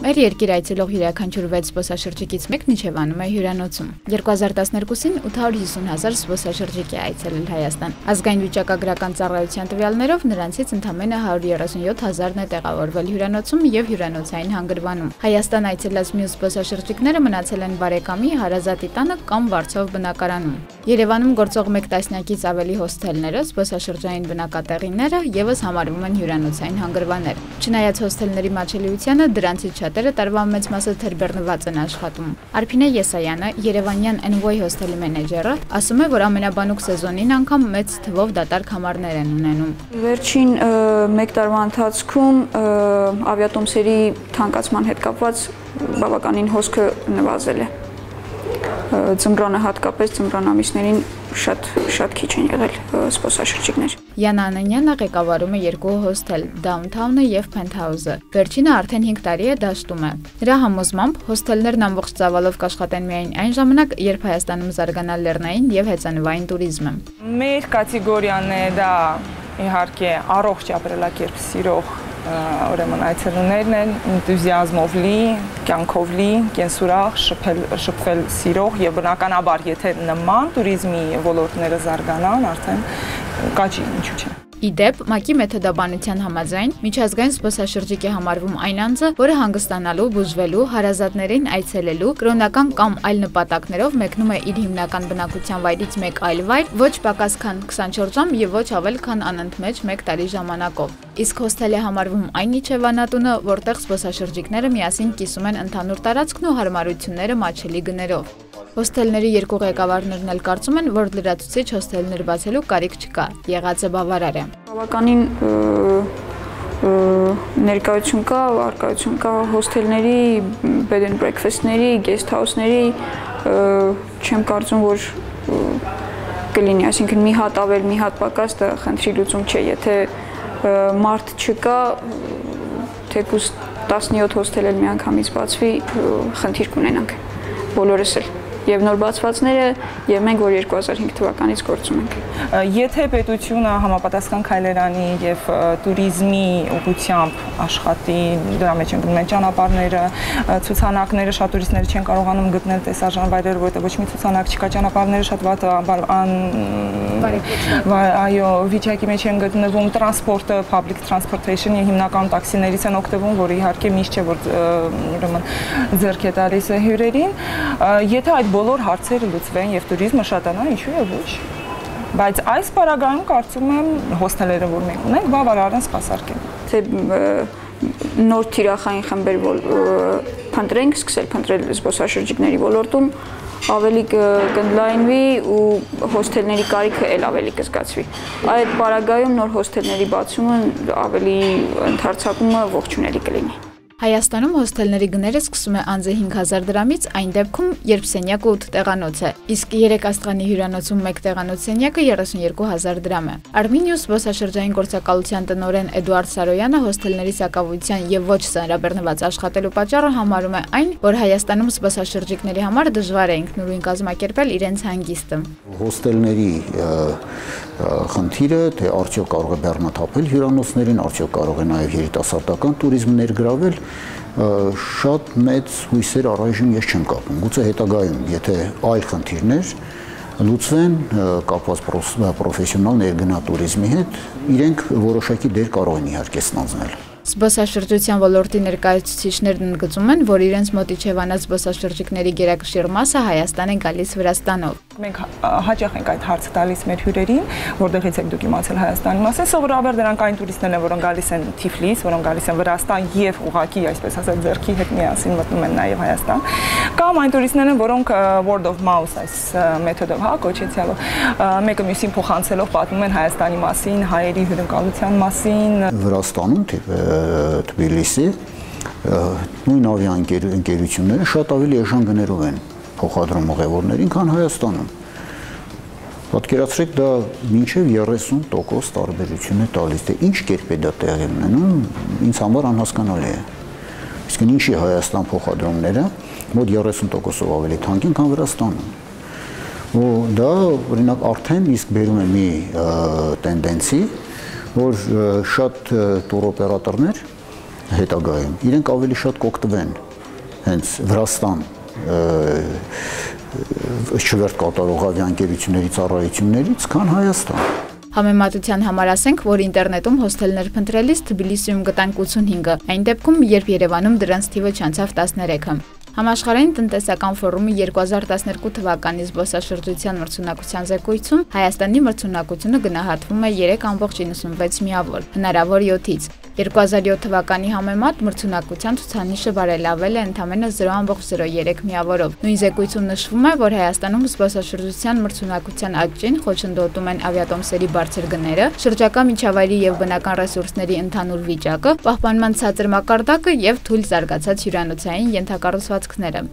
Մեր երկիր այցելող յուրաքանչյուր 6 զբոսաշրջիկից մեկն իջևանում է հյուրանոցում։ 2012-ին 850,000 զբոսաշրջիկ է այցելել Հայաստան։ Ազգային վիճակագրական ծառայության տվյալներով նրանցից ընդամենը 137,000-ն է տեղավորվել հյուրանոցում եւ հյուրանոցային հանգրվանում։ Հայաստան այցելած մյուս զբոսաշրջիկները մնացել են բարեկամի, հարազատի տանը կամ վարձով բնակարանում։ Երևանում գործող 1 տասնյակից ավելի հոսթելները, զբոսաշրջային բնակատեղիները եւս համարվում են հյուրանոցային հանգրվաններ։ Չնայած հոսթելների մատչելիությանը, դրանցից շատերը տարվա մեծ մասը թերբեռնված են աշխատում։ Արփինե Եսայանը, Երևանյան Envoy հոսթելի մենեջերը, ասում է, որ ամենաբանուկ սեզոնին անգամ մեծ թվով դատարկ համարներ են ունենում։ Վերջին 1 տարվա ընթացքում ավիատոմսերի թանկացման հետ կապված բավականին հոսքը նվազել է։ Ձմռանը հատկապես ձմռան ամիսներին շատ քիչ են եղել զբոսաշրջիկներ։ Յանա Անանյանը ղեկավարում է 2 հոսթել՝ Downtown-ը եւ Penthouse-ը։ Վերջինը արդեն 5 տարի է դաշտում է։ Նրա համոզմամբ հոսթելներն ամբողջ ծավալով կաշխատեն միայն այն ժամանակ, երբ Հայաստանում զարգանա լեռնային եւ հեծանվային туриզմը։ Մեր կատեգորիան է դա իհարկե առողջ ապրելակերպ սիրող ուրեմն այցելուներն են, энտուզիազմով լի, կյանքով լի, կենսուրախ, շփվել սիրող եւ բնականաբար եթե նման туриզմի ոլորտները զարգանան, արդեն կաճի ինչու՞ չէ։ Իդեպ, ՄԱԿ-ի մեթոդաբանության համաձայն միջազգային զբոսաշրջիկ է համարվում այն անձը, որը հանգստանալու, բուժվելու, հարազատներին այցելելու, կրոնական կամ այլ նպատակներով մեկնում է իր հիմնական բնակության վայրից մեկ այլ վայր, ոչ պակաս քան 24 ժամ եւ ոչ ավել քան անընդմեջ 1 տարի ժամանակով։ Իսկ հոսթել է համարվում այն իջևանատունը, որտեղ զբոսաշրջիկները միասին կիսում են ընդհանուր տարածքն ու հարմարությունները մատչելի գներով։ Հոսթելների 2 ղեկավարներն էլ կարծում են, որ լրացուցիչ հոսթելներ բացելու կարիք չկա, եղածը բավարար է։ Բավականին ներկայություն կա, արկայություն կա հոսթելների, bed and breakfast-ների, guest house-ների, չեմ կարծում, որ կլինի, այսինքն մի հատ ավել, մի հատ պակաս դա խնդրի լուծում չէ, եթե մարդ չկա, թեկուզ 17 հոսթել էլ միանգամից բացվի, խնդիր կունենանք, բոլորս էլ։ Եվ նոր բացվածները, եւ մենք, որ 2005 թվականից գործում ենք։ Եթե պետությունը համապատասխան քայլեր անի եւ туриզմի ուղղությամբ աշխատի, դրա մեջ են գնում են ճանապարհները, ցուցանակները, շատ տուրիստներ չեն կարողանում գտնել տեսարժան վայրեր, որտեղ ոչ մի ցուցանակ չկա, ճանապարհները շատ վատ այո, վիճակի մեջ են գտնվում, տրանսպորտը, public transportation-ը հիմնականում տաքսիներից են օգտվում, որը իհարկե միշտ չէ, որ ուրեմն ձեռք է տալիս հյուրերին, եթե այդ բոլոր հարցերը լուծվեն եւ туриզմը շատանա, ինչու է ոչ։ Բայց այս պարագայում կարծում եմ հոսթելերը, որ մենք ունենք, բավարար են սպասարկեն։ Թե նոր թիրախային խմբեր փնտրենք, սկսել փնտրել զբոսաշրջիկների ոլորտում, ավելի կընդլայնվի ու հոսթելների կարիքը էլ ավելի կզգացվի։ Այդ պարագայում նոր հոսթելների բացումը ավելի ընդարձակումը ողջունելի կլինի։ Հայաստանում հոսթելների գները սկսում է անձը 5000 դրամից, այն դեպքում, երբ սենյակը 8 տեղանոց է, իսկ 3 աստղանի հյուրանոցում 1 տեղանոց սենյակը 32000 դրամ է։ Արմինիուս զբոսաշրջային գործակալության տնօրեն Էդուարդ Սարոյանը հոսթելների սակավության եւ ոչ ծանրաբեռնված աշխատելու պատճառը համարում է այն, որ Հայաստանում զբոսաշրջիկների համար դժվար է ինքնուրույն կազմակերպել իրենց հանգիստը։ Հոսթելների խնդիրը, թե արդյոք կարող է բեռնաթափել հյուրանոցներին, արդյոք կարող է նաև երիտասարդական туриզմ ներգրավել, շատ մեծ հույսեր առայժմ ես չեմ կապում։ Գուցե հետագայում, եթե այլ խնդիրներ լուծվեն կապված պրոֆեսիոնալ ներգնա туриզմի հետ, իրենք որոշակի դեր կարող են իհարկե ստանձնել։ Զբոսաշրջության ոլորտի ներկայացուցիչներն ընդգծում են, որ իրենց մոտ իջևանած զբոսաշրջիկների գերակշիռ մասը Հայաստան է գալիս Վրաստանով։ Մենք հաճախ ենք այդ հարցը տալիս մեր հյուրերին, որտեղից եք դուք իմացել Հայաստանի մասին, սովորաբար դրանք այն տուրիստներն են, որոնք գալիս են Թիֆլիս, որոնք գալիս են Վրաստան եւ ուղղակի, այսպես ասած, ձեռքի հետ միասին մտնում են նաեւ Հայաստան, կամ այն տուրիստներ են, որոնք word of mouth այս մեթոդով, կոչեցյալով, մեկը մյուսին փոխանցելով պատմում են Հայաստանի մասին, հայերի հյուրընկալության մասին։ Վրաստանում Թբիլիսի նույն ավիաընկերությունները շատ ավելի էժան գներով են փոխադրում ուղևորներին, քան Հայաստանում։ Պատկերացրեք, դա մինչև 30% տարբերություն է տալիս, թե ինչ կերպ է դա տեղի ունենում, ինձ համար անհասկանալի է։ Իսկ ինչի Հայաստան փոխադրումները մոտ 30%-ով ավելի թանկ են, քան Վրաստանում։ Ու դա օրինակ արդեն իսկ բերում է մի տենդենսի, որ շատ տուրօպերատորներ հետագայում իրենք ավելի շատ կօգտվեն հենց Վրաստան չվերթ կատարողավի ընկերությունների ծառայություններից, քան Հայաստան։ Համեմատության համար ասենք, որ ինտերնետում հոսթելներ փնտրելիս Թբիլիսիում գտանք 85-ը, այն դեպքում, երբ Երևանում դրանց թիվը չանցավ 13-ը։ Համաշխարհային տնտեսական ֆորումի 2012 թվականի զբոսաշրջության մրցունակության զեկույցում Հայաստանի մրցունակությունը գնահատվում է 3.96 միավոր, հնարավոր 7-ից։ 2007 թվականի համեմատ մրցունակության ցուցանիշը բարելավել է ընդամենը 0.03 միավորով։ Նույն զեկույցում նշվում է, որ Հայաստանում զբոսաշրջության մրցունակության աճին խոչընդոտում են ավիատոմսերի բարձր գները, շրջակա միջավայրի եւ բնական ռեսուրսների ընդհանուր վիճակը, պահպանման ցածր մակարդակը եւ թույլ զարգացած հյուրանոցային ենթակառուցվածքները։